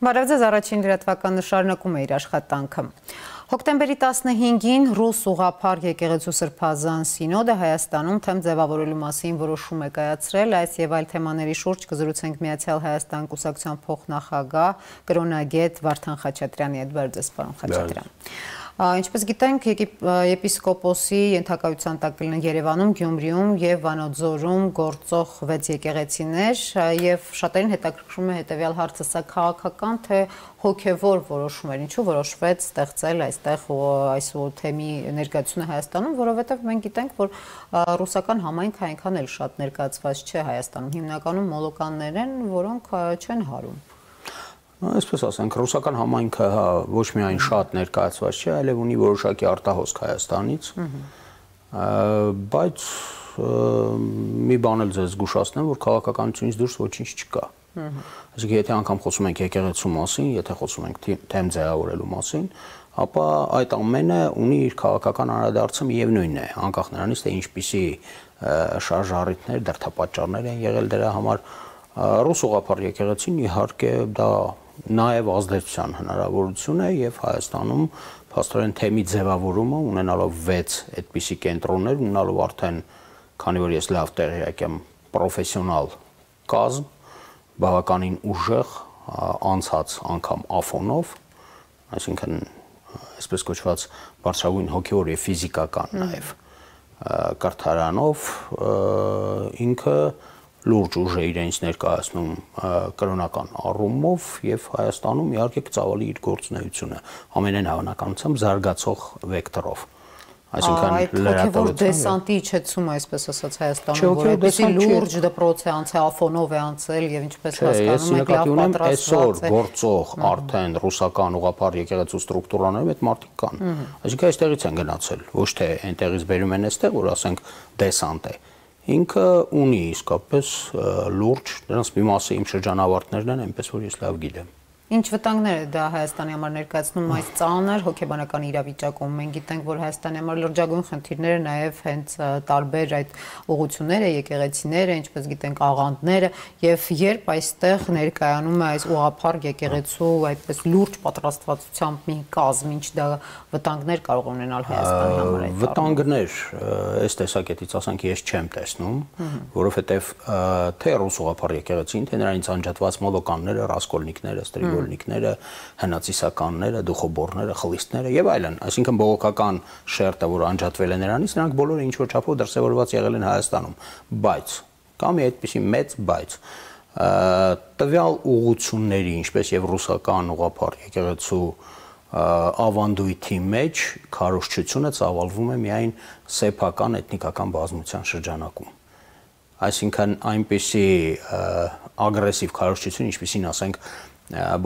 Բարև ձեզ, առաջին լրատվականը շարունակում է իր աշխատանքը։ Հոկտեմբերի 15-ին ռուս ուղղափառ եկեղեցու Սրբազան սինոդը Հայաստանում թեմ ձևավորելու մասին որոշում է կայացրել, այս եւ այլ թեմաների շուրջ կզրուցենք Միացյալ Հայաստան կուսակցության փոխնախագահ կրոնագետ Վարդան Խաչատրյանի հետ։ Բարև ձեզ, պարոն Խաչատրյան։ Ինչպես գիտենք, եպիսկոպոսի ենթակայության տակ կլինեն Երևանում, Գյումրիում եւ Վանաձորում գործող 6 եկեղեցիներ եւ շատերին հետաքրքրում է հետեւյալ հարցը, սա քաղաքական թե հոգեվոր որոշում էր, ինչու որոշվեց ստեղծել այստեղ այս թեմի ներկայացությունը Հայաստանում, որովհետեւ մենք գիտենք, որ ռուսական համայնքը այնքան էլ շատ ներկայացված չէ Հայաստանում, հիմնականում մոլոկաններ են, որոնք չեն հարում։ Այսպես ասենք, ռուսական համայնքը ոչ միայն շատ ներկայացված չէ, այլև ունի որոշակի արտահոսք Հայաստանից, բայց մի բան էլ ձեզ զգուշացնեմ, որ քաղաքականությունից դուրս ոչինչ չկա։ Այսինքն, եթե անգամ խոսում ենք եկեղեցու մասին, եթե խոսում ենք թեմ ձևավորելու մասին, ապա այդ ամենը ունի իր քաղաքական անդրադարձը միևնույնն է, անկախ նրանից, թե ինչպիսի շարժառիթներ, դրդապատճառներ են եղել դրա համար։ Ռուս ուղղափառ եկեղեցին իհարկե դա նաև ազդեցության հնարավորություն է եւ Հայաստանում փաստորեն թեմի ձևավորումը ունենալով 6 այդպիսի կենտրոններ, ունենալով արդեն, քանի որ ես լավ տեղյակ եմ, պրոֆեսիոնալ կազմ, բավականին ուժեղ, անցած անգամ Աֆոնով, այսինքն այսպես կոչված բարձրագույն հոգեոր եւ ֆիզիկական նաև կրթարանով ինքը լուրջ ուժ է իրենց ներկայացնում կրոնական առումով եւ Հայաստանում իհարկե կծավալի իր գործունեությունը ամենայն հավանականությամբ զարգացող վեկտորով։ Այսինքն լրատվության դեսանտի իջեցումը, այսպես ասած, Հայաստանում, որ այդպիսի լուրջ դպրոց է անցել, Աֆոնով է անցել եւ ինչպես հասկանում եք, լավ պատրաստված է։ Գործող արդեն ռուսական ուղղափառ եկեղեցու ստրուկտուրաներում այդ մարդիկ կան։ Այսինքն այստեղից են գնացել, ոչ թե այնտեղից բերում են այստեղ, որ ասենք դեսանտ է։ Ինքը ունի իսկապես լուրջ, դրանց մի մասը իմ շրջանավարտներն են, այնպես որ ես լավ գիտեմ։ Ինչ վտանգներ է դա Հայաստանի համար ներկայացնում այս ծանր հոգեբանական իրավիճակում։ Մենք գիտենք, որ Հայաստանի համար լրջագույն խնդիրները նաև հենց տարբեր այդ ուղղությունները, եկեղեցիները, ինչպես գիտենք, աղանդները, եւ երբ այստեղ ներկայանում է այս ուղղափառ եկեղեցու այդպես լուրջ պատրաստվածությամբ մի կազմ, ինչ դա վտանգներ կարող ունենալ Հայաստանի համար այդ վտանգներ այս տեսակետից ասենք ես չեմ տեսնում, որովհետեւ թե ռուս ուղղափառ եկեղեցին, թե նրանից անջատված մոլոկանները, ռասկոլնիկները, ստրիգոլնիկները, հնացիսականները, դուխոբորները, խլիստները եւ այլն, այսինքն բողոքական շերտը, որ անջատվել է նրանից, նրանք բոլորը ինչ որ չափով դրսևորված եղել են Հայաստանում, բայց կա մի այդպիսի մեծ բայց տվյալ ուղղությունների, ինչպես եւ ռուսական ուղղափառ եկեղեցու ավանդույթի մեջ քարոզչությունը ծավալվում է միայն սեփական էթնիկական բազմության շրջանակում։ Այսինքն այնպիսի ագրեսիվ քարոզչություն, ինչպիսին ասենք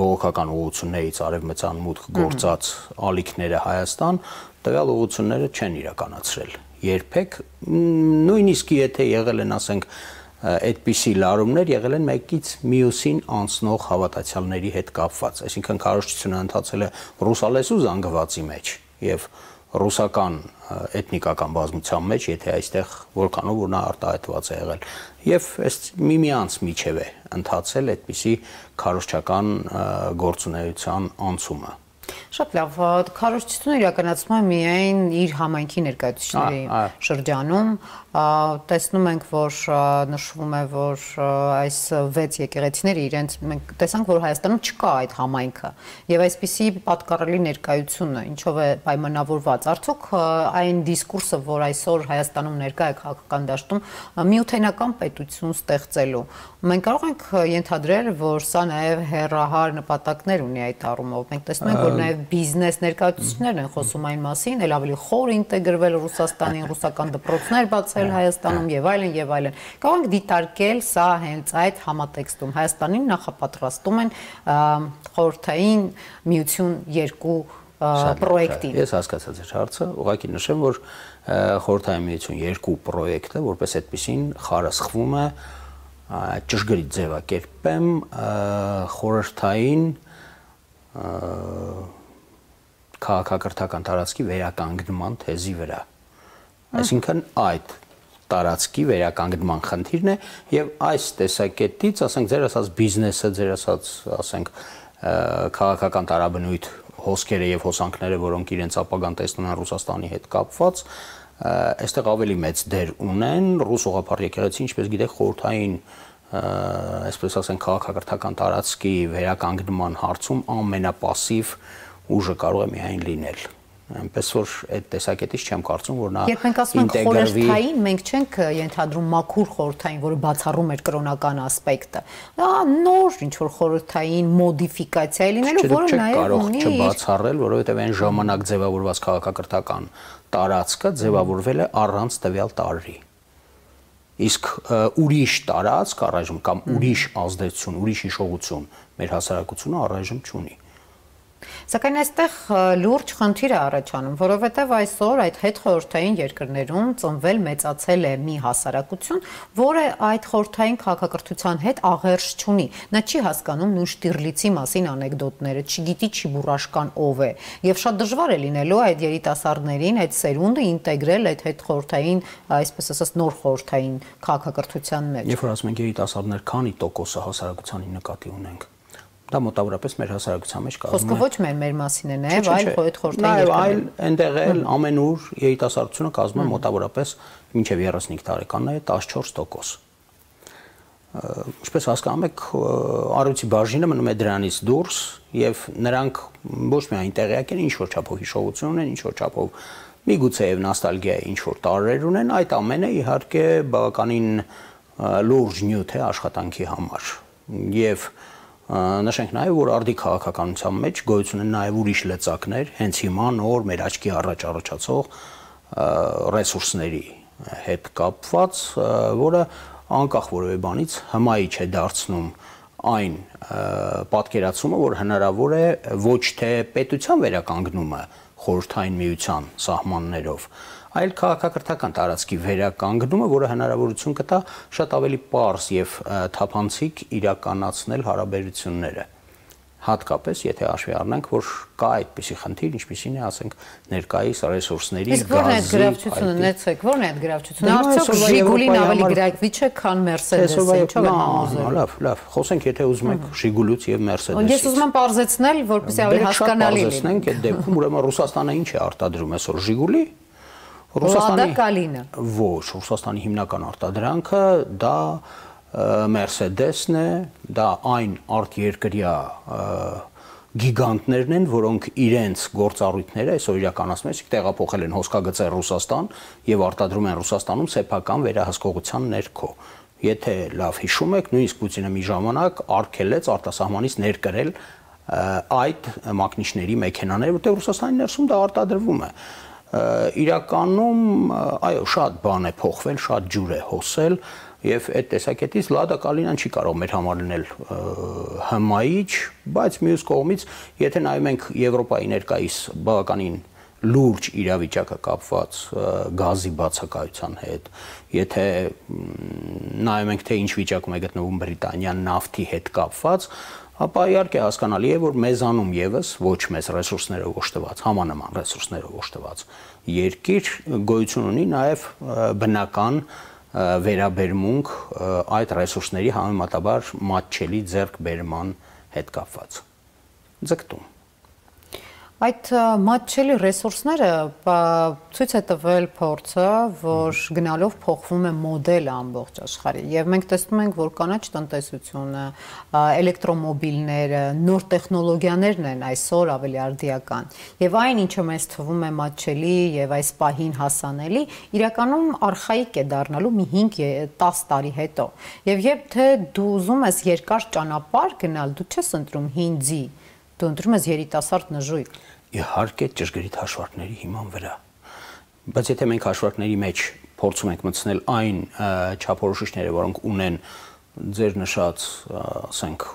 բողոքական ուղղություններից արևմտյան մուտք գործած ալիքները Հայաստան, տվյալ ուղղությունները չեն իրականացրել երբեք, նույնիսկ եթե եղել են, ասենք, այդպիսի լարումներ եղել են մեկից մյուսին անցնող հավատացյալների հետ կապված, այսինքն քարոզչությունը ընթացել է ռուսալեսու զանգվածի մեջ եւ ռուսական էթնիկական բազմության մեջ, եթե այստեղ որքանով որ նա արտահայտված է եղել եւ այս միմյանց միջև է ընթացել այդպիսի քարոզչական գործունեության անցումը։ Շատ լավ, քարոզչությունը իրականացվում է միայն իր համայնքի ներկայացուցիչների շրջանում, տեսնում ենք, որ նշվում է, որ այս 6 եկեղեցիները իրենց մենք տեսանք, որ Հայաստանում չկա այդ համայնքը եւ այսպիսի պատկառելի ներկայությունը, ինչով է պայմանավորված, արդյոք այն դիսկուրսը, որ այսօր Հայաստանում ներկա է քաղաքական դաշտում, միութենական պետություն ստեղծելու, մենք կարող ենք ենթադրել, որ սա նաեւ հեռահար նպատակներ ունի այդ առումով, մենք տեսնում ենք, որ նաեւ բիզնես ներկայացուցիչներն են խոսում այն մասին, ել ավելի խոր ինտեգրվել Ռուսաստանին, ռուսական դպրոցներ բացել Հայաստանում եւ այլն եւ այլն։ Կարող ենք դիտարկել սա հենց այդ համատեքստում Հայաստանին նախապատրաստում են խորհրդային միություն 2 պրոյեկտին։ Ես հասկացա ձեր հարցը, ուղղակի նշեմ, որ խորհրդային միություն 2 պրոյեկտը որպես այդպեսին խարսխվում է ճշգրիտ ձևակերպեմ խորհրդային քաղաքակրթական տարածքի վերականգնման թեզի վրա։ Այսինքն այդ տարածքի վերականգնման խնդիրն է եւ այս տեսակետից, ասենք, ձեր ասած բիզնեսը, ձեր ասած, ասենք, քաղաքական տարաբնույթ հոսքերը եւ հոսանքները, որոնք իրենց ապագան տեսնում են Ռուսաստանի հետ կապված, այստեղ ավելի մեծ դեր ունեն ռուս ուղղափառ եկեղեցի, ինչպես գիտեք, խորհրդային այսպես ասենք քաղաքակրթական տարածքի վերականգնման հարցում ամենապասիվ ուժը կարող է միայն լինել։ Այնպես որ այդ տեսակետից չեմ կարծում, որ նա երբ մենք ասում ենք խորհրդային, մենք չենք ենթադրում մաքուր խորհրդային, որը բացառում էր կրոնական ասպեկտը։ Դա նոր ինչ որ խորհրդային մոդիֆիկացիա է լինելու, որը նաև ունի չբացառել, որովհետև այն ժամանակ ձևավորված քաղաքակրթական տարածքը ձևավորվել է առանց տվյալ տարրի։ Իսկ ուրիշ տարածք առայժմ կամ ուրիշ ազդեցություն, ուրիշ հիշողություն մեր հասարակությունը առայժմ չունի։ Սակայն այստեղ լուրջ խնդիր է առաջանում, որովհետև այսօր այդ հետխորհրդային երկրներում ծնվել մեծացել է մի հասարակություն, որը այդ խորհրդային քաղաքակրթության հետ աղերս չունի։ Նա չի հասկանում նույն Շտիրլիցի մասին անեկդոտները, չգիտի Չիբուրաշկան ով է, եւ շատ դժվար է լինելու այդ երիտասարդներին, այդ սերունդը ինտեգրել այդ հետխորհրդային, այսպես ասած, նոր խորհրդային քաղաքակրթության մեջ։ Երբ որ ասում ենք երիտասարդներ, քանի տոկոսը հասարակությանի նկատի ունենք։ Դա մոտավորապես մեր հասարակության մեջ կազմում է։ Խոսքը ոչ մեր մասին է, նաև այլ խորհրդային երկրներ։ Այլ այնտեղ էլ ամենուր երիտասարդությունը կազմում է մոտավորապես մինչև 35 տարեկանները 14%։ Ինչպես հասկանում եք, առյուծի բաժինը մնում է դրանից դուրս եւ նրանք ոչ միայն տեղյակ են, ինչ որ չափով հիշողություն ունեն, ինչ որ չափով միգուցե եւ նոստալգիա ինչ որ տարրեր ունեն, այդ ամենը իհարկե բավականին լուրջ նյութ է աշխատանքի համար։ Եվ նշենք նաև, որ արդի քաղաքականության մեջ գոյություն են նաև ուրիշ լծակներ, հենց հիմա նոր մեր աչքի առաջ առաջացող ռեսուրսների հետ կապված, որը անկախ որևէ բանից հմայի չէ դարձնում այն պատկերացումը, որ հնարավոր է ոչ թե պետության վերականգնումը խորհրդային միության սահմաններով, այլ քաղաքակրթական տարածքի վերականգնումը, որը հնարավորություն կտա շատ ավելի պարզ եւ թափանցիկ իրականացնել հարաբերությունները։ Հատկապես, եթե հաշվի առնենք, որ կա այդպիսի խնդիր, ինչպիսին է, ասենք, ներկայիս ռեսուրսների, Ո՞րն է այդ գրավչությունը, արդյոք Ժիգուլին ավելի գրավիչ է, քան Մերսեդեսը, ինչով են համոզելու։ Լավ, խոսենք, եթե ուզում եք Ժիգուլից եւ Մերսեդեսից։ Ես ուզում եմ պարզեցնել, որպեսզի ավելի հասկանալի լինի։ Պարզեցնենք այդ դեպքում, ուրեմն Ռուսաստանը ինչ է արտադրում այսօր Ժիգուլի։ Ոչ, Ռուսաստանի հիմնական արտադրանքը դա Մերսեդեսն է, դա այն արտերկրյա գիգանտներն են, որոնք իրենց գործառույթները այսօր իրականացնում են, տեղափոխել են հոսքագծեր Ռուսաստան եւ արտադրում են Ռուսաստանում սեփական վերահսկողության ներքո։ Եթե լավ հիշում եք, նույնիսկ Պուտինը մի ժամանակ արգելեց արտասահմանից ներկրել այդ մակնիշների մեքենաները, որտեղ Ռուսաստանի ներսում դա արտադրվում է։ Իրականում, այո, շատ բան է փոխվել, շատ ջուր է հոսել եւ այդ տեսակետից Լադա Կալինան չի կարող մեր համար լինել հմայիչ, բայց մյուս կողմից, եթե նայում ենք Եվրոպայի ներկայիս բավականին լուրջ իրավիճակը կապված գազի բացակայության հետ, եթե նայում ենք թե ինչ վիճակում է գտնվում Բրիտանիան նավթի հետ կապված, ապա իհարկե հասկանալի է, որ մեզանում եւս ոչ մեծ ռեսուրսներով օժտված, համանման ռեսուրսներով օժտված երկիր գոյություն ունի նաեւ բնական վերաբերմունք այդ ռեսուրսների համեմատաբար մատչելի ձեռքբերման հետ կապված։ Ձգտում։ Այդ մատչելի ռեսուրսները ցույց է տվել փորձը, որ գնալով փոխվում է մոդելը ամբողջ աշխարհի եւ մենք տեսնում ենք, որ կանաչ տնտեսությունը, էլեկտրոմոբիլները, նոր տեխնոլոգիաներն են այսօր ավելի արդիական եւ այն, ինչը մեզ թվում է մատչելի եւ այս պահին հասանելի, իրականում արխայիկ է դառնալու մի 5-10 տարի հետո։ Եվ երբ թե դու ուզում ես երկար ճանապարհ գնալ, դու չես ընտրում հին ձի, դու ընտրում ես երիտասարդ նժույգ։ Իհարկե ճշգրիտ հաշվարկների հիման վրա։ Բայց եթե մենք հաշվարկների մեջ փորձում ենք մտցնել այն չափորոշիչները, որոնք ունեն ձեր նշած, ասենք,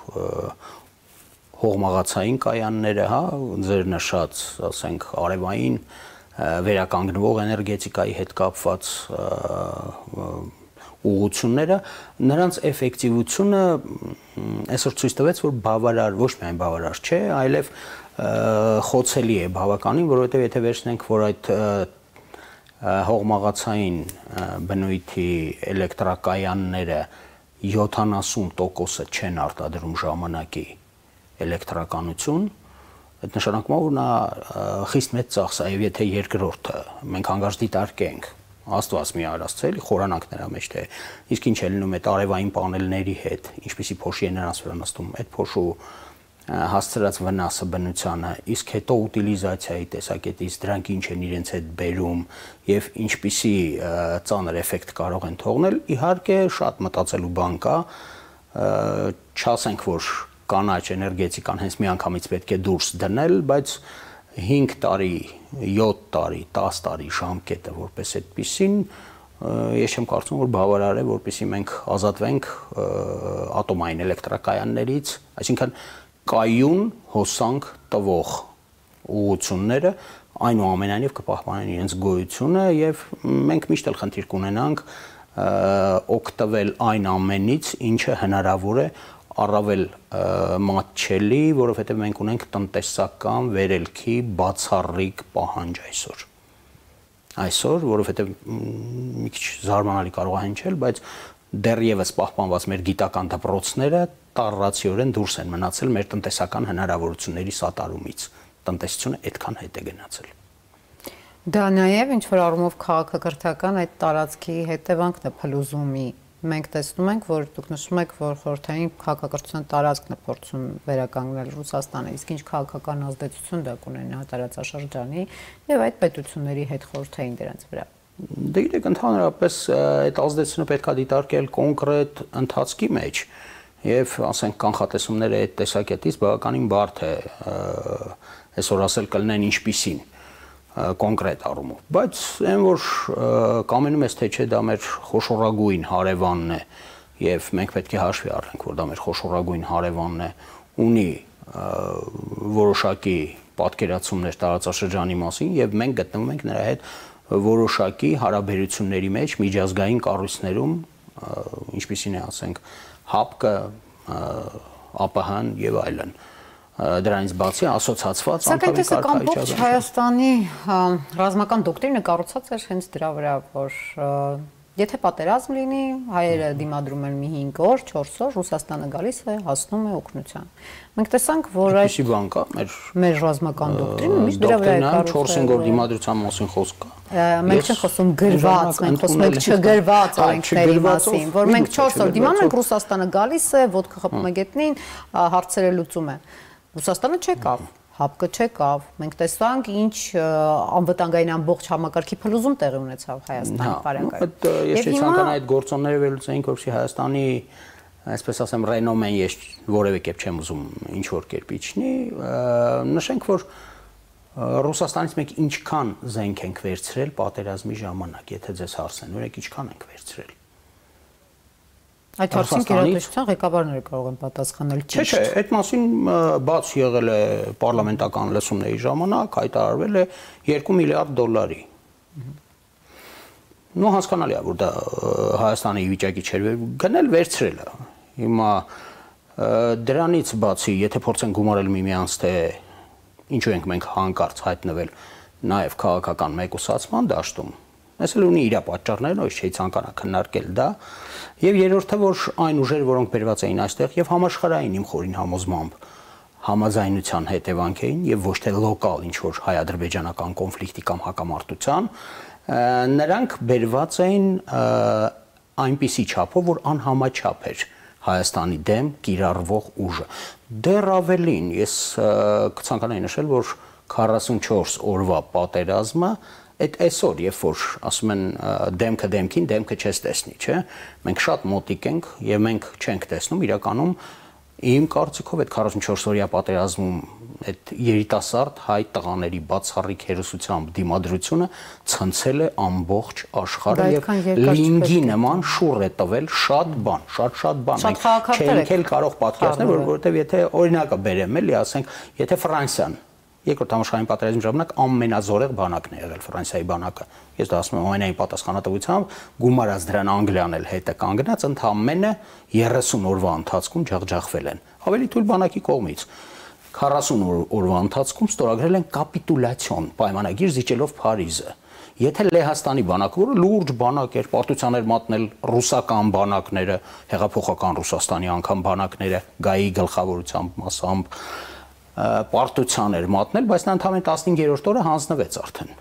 հողմաղացային կայանները, հա, ձեր նշած, ասենք, արևային վերականգնվող էներգետիկայի հետ կապված ուղղությունները, նրանց էֆեկտիվությունը այսօր ցույց տվեց, որ բավարար, ոչ միայն բավարար չէ, այլև խոցելի է բավականին, որովհետև եթե վերցնենք, որ այդ հողմաղացային բնույթի էլեկտրակայանները 70%-ը չեն արտադրում ժամանակի էլեկտրականություն, այդ նշանակում է, որ նա խիստ մեծ ծախս է, եւ եթե երկրորդը մենք հանգարց դիտարկենք Աստված մի արածել, խորանանք նրա մեջ թե իսկ ինչ է լինում այդ արևային պանելների հետ, ինչպիսի փոշի է նրանց վրա նստում, այդ փոշու հասցրած վնասը բնությանը, իսկ հետո ուտիլիզացիայի տեսակետից դրանք ինչ են իրենց հետ բերում եւ ինչպիսի ծանր էֆեկտ կարող են թողնել, իհարկե շատ մտածելու բան կա, չասենք որ կանաչ էներգետիկան հենց միանգամից պետք է դուրս դնել, բայց 5 տարի, 7 տարի, 10 տարի ժամկետը որպես այդպիսին ես չեմ կարծում որ բավարար է որպեսզի մենք ազատվենք ատոմային էլեկտրակայաններից, այսինքն կայուն հոսանք տվող ուղղությունները այնուամենայնիվ կպահպանեն իրենց գոյությունը եւ մենք միշտ էլ խնդիր կունենանք օգտվել այն ամենից, ինչը հնարավոր է առավել մատչելի, որովհետեւ մենք ունենք տնտեսական վերելքի բացառիկ պահանջ այսօր, որովհետեւ մի քիչ զարմանալի կարող է հնչել, բայց դեռևս պահպանված մեր գիտական դպրոցները տառացիորեն դուրս են մնացել մեր տնտեսական հնարավորությունների սատարումից։ Տնտեսությունը այդքան հետ է գնացել։ Դա նաև ինչ որ առումով քաղաքակրթական այդ տարածքի հետևանքն է փլուզումի։ Մենք տեսնում ենք, որ դուք նշում եք, որ խորհրդային քաղաքակրթության տարածքն է փորձում վերականգնել Ռուսաստանը, իսկ ինչ քաղաքական ազդեցություն դա կունենա տարածաշրջանի եւ այդ պետությունների հետ խորհրդային դրանց վրա։ Դե գիտեք, ընդհանրապես այդ ազդեցությունը պետք է դիտարկել կոնկրետ ընթացքի մեջ եւ ասենք կանխատեսումները այդ տեսակետից բավականին բարդ է այսօր ասել կլինեն ինչպիսին կոնկրետ առումով, բայց այն որ կամենում ես թե չէ դա մեր խոշորագույն հարևանն է եւ մենք պետք է հաշվի առնենք որ դա մեր խոշորագույն հարևանն է ունի որոշակի պատկերացումներ տարածաշրջանի մասին եւ մենք գտնվում ենք նրա հետ որոշակի հարաբերությունների մեջ միջազգային կառույցներում ինչպիսին է ասենք ՀԱՊԿ, ԱՊՀ-ն եւ այլն դրանից բացի ասոցացված անդամի կարգավիճակը Հայաստանի ռազմական դոկտրինը կառուցած էր հենց դրա վրա, որ եթե պատերազմ լինի, հայերը դիմադրում են մի 5 օր, 4 օր, Ռուսաստանը գալիս է, հասնում է օգնության։ Մենք տեսանք, որ այդ բան կա մեր ռազմական դոկտրինը միշտ դրա վրա է կառուցված։ 4-5 օր դիմադրության մասին խոսք կա։ Մենք չենք խոսում գրված, մենք խոսում ենք չգրված օրենքների մասին, որ մենք 4 օր դիմանում ենք, Ռուսաստանը գալիս է, ոդկա խփում է գետնին, հարցերը լուծում է։ Ռուսաստանը չեկավ, ՀԱՊԿ չեկավ, մենք տեսանք ինչ անվտանգային ամբողջ համակարգի փլուզում տեղի ունեցավ Հայաստանի բարեկայում։ Ես ցանկանայի այդ գործոնները վերլուծեինք, որովհետեւ Հայաստանի, այսպես ասեմ, ռենոմեն ես որևէ կերպ չեմ ուզում ինչ որ կերպ իջնի, նշենք, որ Ռուսաստանից մենք ինչքան զենք ենք վերցրել պատերազմի ժամանակ, եթե ձեզ հարցնեն, օրենք ինչքան ենք վերցրել։ Այդ հարցին գերատեսչության ղեկավարները կարող են պատասխանել ճիշտ։ Չէ, այդ մասին բաց եղել է պարլամենտական լսումների ժամանակ, հայտարարվել է $2 միլիարդ։ Նո հասկանալի է, որ դա Հայաստանի վիճակի չէր գնել վերցրել է։ Հիմա դրանից բացի, եթե փորձենք գումարել միմյանց, թե ինչու ենք մենք հանկարծ հայտնվել նաև քաղաքական մեկուսացման դաշտում, այս էլ ունի իր պատճառներն, ոչ չի ցանկանա քննարկել դա, եւ երրորդը, որ այն ուժեր, որոնք բերված էին այստեղ եւ համաշխարհային իմ խորին համոզմամբ համաձայնության հետևանք էին եւ ոչ թե լոկալ ինչ որ հայ-ադրբեջանական կոնֆլիկտի կամ հակամարտության, նրանք բերված էին այնպիսի չափով, որ անհամաչափ էր Հայաստանի դեմ կիրառվող ուժը։ Դեռ ավելին, ես կցանկանայի նշել, որ 44 օրվա պատերազմը այդ այսօր, երբ որ ասում են դեմքը դեմքին, դեմքը չես տեսնի, չէ՞։ Մենք շատ մոտիկ ենք եւ մենք չենք տեսնում իրականում իմ կարծիքով այդ 44 օրյա պատերազմում այդ երիտասարդ հայ տղաների բացառիկ հերոսությամբ դիմադրությունը ցնցել է ամբողջ աշխարհը եւ լինգի նման շուռ է տվել շատ բան, շատ բան։ Մենք չենք էլ կարող պատկերացնել, որովհետեւ եթե օրինակը բերեմ էլի, ասենք, եթե Ֆրանսիան Երկրորդ համաշխարհային պատերազմի ժամանակ ամենազորեղ բանակն է եղել Ֆրանսիայի բանակը։ Ես դա ասում եմ ամենայն պատասխանատվությամբ, գումարած դրան Անգլիան էլ հետը կանգնած, ընդամենը 30 օրվա ընթացքում ջախջախվել են։ Ավելի թույլ բանակի կողմից 40 օրվա ընթացքում ստորագրել են կապիտուլյացիոն պայմանագիր զիջելով Փարիզը։ Եթե Լեհաստանի բանակը, որը լուրջ բանակ էր, պարտության էր մատնել ռուսական բանակները, հեղափոխական Ռուսաստանի անգամ բանակները, գայի գլխավորությամբ մասամբ պարտության էր մատնել, բայց նա ընդամենը 15-րդ օրը հանձնվեց արդեն։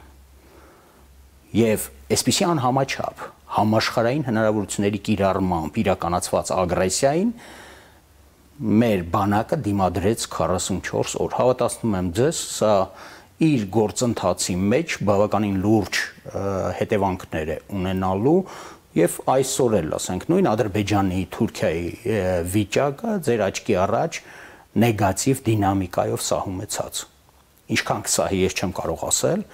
Եվ այսպիսի անհամաչափ համաշխարհային հնարավորությունների կիրառմամբ իրականացված ագրեսիային մեր բանակը դիմադրեց 44 օր։ Հավատացնում եմ ձեզ, սա իր գործընթացի մեջ բավականին լուրջ հետևանքներ է ունենալու եւ այսօր էլ, ասենք, նույն Ադրբեջանի, Թուրքիայի վիճակը ձեր աչքի առաջ նեգատիվ դինամիկայով սահում է ցած։ Ինչքան կսահի, ես չեմ կարող ասել,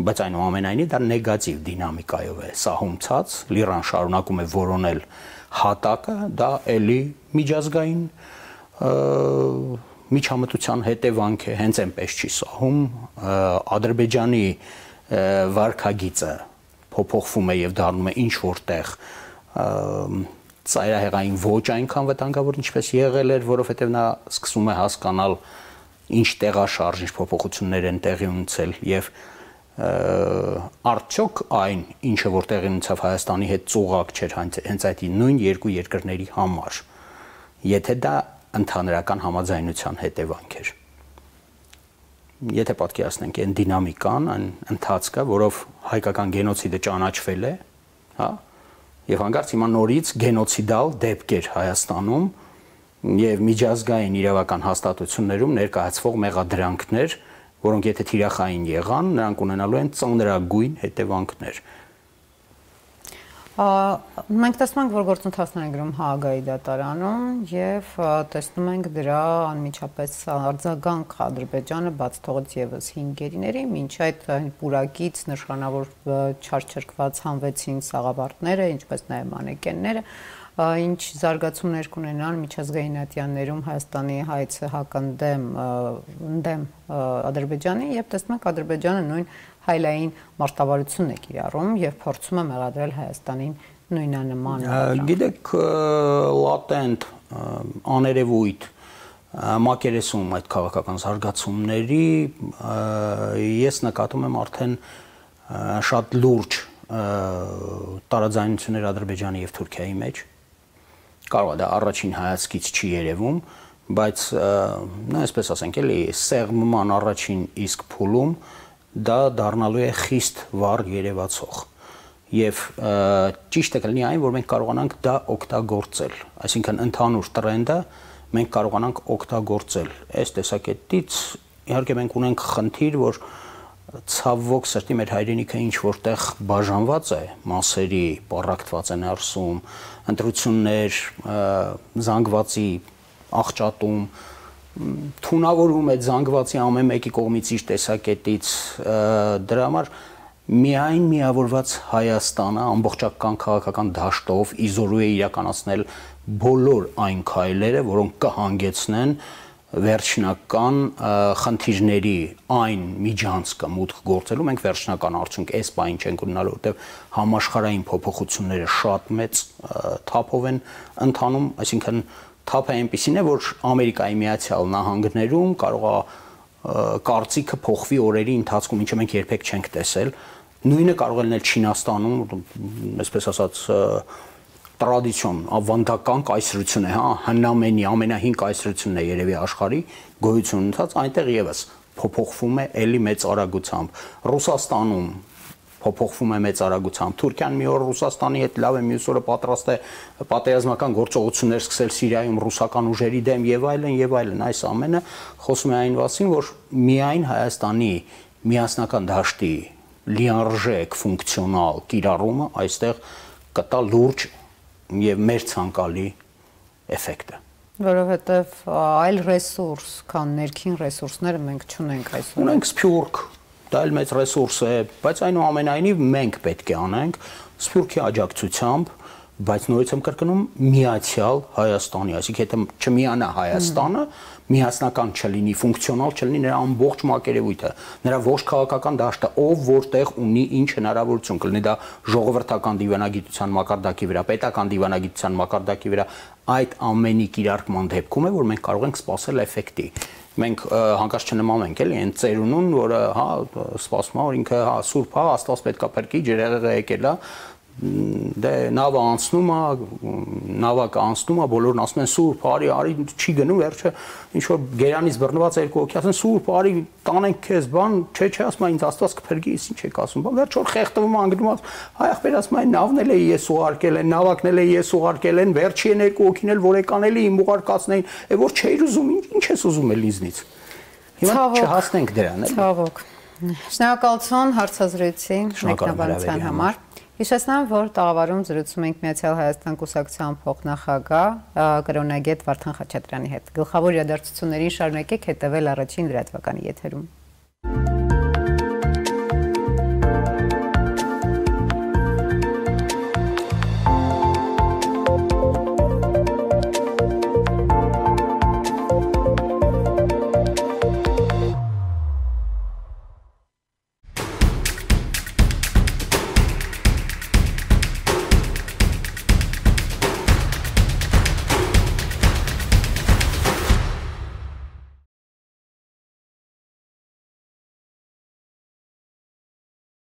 բայց այնուամենայնիվ դա նեգատիվ դինամիկայով է սահում ցած, Լիրան շարունակում է որոնել հատակը, դա էլի միջազգային միջամտության հետևանք է, հենց այնպես չի սահում, Ադրբեջանի վարքագիծը փոփոխվում է եւ դառնում է ինչ որտեղ ծայրահեղային ոչ այնքան վտանգավոր, ինչպես եղել էր, որովհետեւ նա սկսում է հասկանալ ինչ տեղաշարժ, ինչ փոփոխություններ են տեղի ունեցել եւ արդյոք այն, ինչը որ տեղի ունեցավ Հայաստանի հետ ծուղակ չէր հենց այդ նույն երկու երկրների համար, եթե դա ընդհանրական համաձայնության հետևանք էր։ Եթե պատկերացնենք այն դինամիկան, այն ընթացքը, որով հայկական գենոցիդը ճանաչվել է, հա, եւ հանկարծ հիմա նորից գենոցիդալ դեպքեր Հայաստանում եւ միջազգային իրավական հաստատություններում ներկայացվող մեղադրանքներ, որոնք եթե թիրախային եղան, նրանք ունենալու են ծանրագույն հետևանքներ։ Մենք տեսնում ենք, որ գործընթացներ են գրում Հաագայի դատարանում եւ տեսնում ենք դրա անմիջապես արձագանք Ադրբեջանը բաց թողեց եւս 5 գերիների, մինչ այդ պուրակից նշանավոր չարչրկված հանվեցին սաղավարտները, ինչպես նաեւ մանեկենները, ինչ զարգացումներ կունենան միջազգային ատյաններում Հայաստանի հայցը հակընդդեմ Ադրբեջանի եւ տեսնում ենք Ադրբեջանը նույն հայլային մարտավարությունն է կիրառում եւ փորձում է մեղադրել Հայաստանին նույնանման։ Գիտեք, լատենտ աներևույթ մակերեսում այդ քաղաքական զարգացումների ես նկատում եմ արդեն շատ լուրջ տարաձայնություններ Ադրբեջանի եւ Թուրքիայի մեջ։ Կարող է դա առաջին հայացքից չի երևում, բայց նա այսպես ասենք էլի սեղմման առաջին իսկ փուլում դա դառնալու է խիստ վառ երևացող եւ ճիշտը կլինի այն, որ մենք կարողանանք դա օգտագործել, այսինքն ընդհանուր տրենդը մենք կարողանանք օգտագործել։ Այս տեսակետից իհարկե մենք ունենք խնդիր, որ ցավոք սրտի մեր հայրենիքը ինչ որտեղ բաժանված է, մասերի պառակտված են արսում, ընտրություններ, զանգվածի աղճատում, թունավորում է զանգվածի ամեն մեկի կողմից իր տեսակետից, դրա համար միայն միավորված Հայաստանը ամբողջական քաղաքական դաշտով իզորու է իրականացնել բոլոր այն քայլերը, որոնք կհանգեցնեն վերջնական խնդիրների այն միջանցքը մուտք գործելու, մենք վերջնական արդյունք այս պահին չենք ունենալու, որտեղ համաշխարհային փոփոխությունները շատ մեծ թափով են ընթանում, այսինքն թափը այնպիսին է, որ Ամերիկայի Միացյալ Նահանգներում կարող է կարծիքը փոխվի օրերի ընթացքում, ինչը մենք երբեք չենք տեսել, նույնը կարող է լինել Չինաստանում, այսպես ասած տրադիցիոն, ավանդական կայսրություն է, հա, հնամենի ամենահին կայսրությունն է երևի աշխարհի գոյություն ունեցած, այնտեղ եւս փոփոխվում է էլի մեծ արագությամբ։ Ռուսաստանում փոփոխվում է մեծ արագությամբ։ Թուրքիան մի օր Ռուսաստանի հետ լավ է, մյուս օրը պատրաստ է պատերազմական գործողություններ սկսել Սիրիայում ռուսական ուժերի դեմ եւ այլն եւ այլն։ Այս ամենը խոսում է այն մասին, որ միայն Հայաստանի միասնական դաշտի լիարժեք ֆունկցիոնալ կիրառումը այստեղ կտա լուրջ եւ մեր ցանկալի էֆեկտը, որովհետեւ այլ ռեսուրս, քան ներքին ռեսուրսները մենք չունենք այսօր։ Ունենք Սփյուռք, դա էլ մեծ ռեսուրս է, բայց այնուամենայնիվ մենք պետք է անենք Սփյուռքի աջակցությամբ, բայց նորից եմ կրկնում միացյալ Հայաստանի, այսինքն եթե չմիանա Հայաստանը, միասնական չլինի, ֆունկցիոնալ չլինի նրա ամբողջ մակերևույթը, նրա ողջ քաղաքական դաշտը, ով որտեղ ունի ինչ հնարավորություն, կլինի դա ժողովրդական դիվանագիտության մակարդակի վրա, պետական դիվանագիտության մակարդակի վրա, այդ ամենի կիրարկման դեպքում է, որ մենք կարող ենք սպասել էֆեկտի։ մենք հանկարծ չնմանենք էլի այն ծերունուն, որը հա սպասում է, որ ինքը հա սուրբ է, Աստված պետքա փրկի, ջրեղեղը եկել է, դե նավը անցնում է, նավակը անցնում է, բոլորն ասում են սուրբ, արի, չի գնում, վերջը ինչ որ գերանից բռնված երկու հոգի ասեն սուրբ, արի, տանենք քեզ, բան, չէ, ասում են ինձ Աստված կփրկի, ինչ եք ասում, բան, վերջ որ խեղդվում անգնում, հայ ախպեր ասում են նավն էլ է ես ուղարկել են, նավակն էլ է ես ուղարկել են, վերջի են երկու հոգին էլ որ եկան էլի իմ ուղարկածներին, է որ չէիր ուզում, ինչ ես ուզում էլ ինձնից։ Հիմա չհասնենք դրան, էլի։ Ցավոք։ Շնորհակալություն հարցազրույցի մեկնաբանության համար։ Հիշեցնեմ, որ տաղավարում զրուցում ենք Միացյալ Հայաստան կուսակցության փոխնախագահ կրոնագետ Վարդան Խաչատրյանի հետ։ Գլխավոր իրադարձություններին շարունակեք հետևել առաջին լրատվականի եթերում։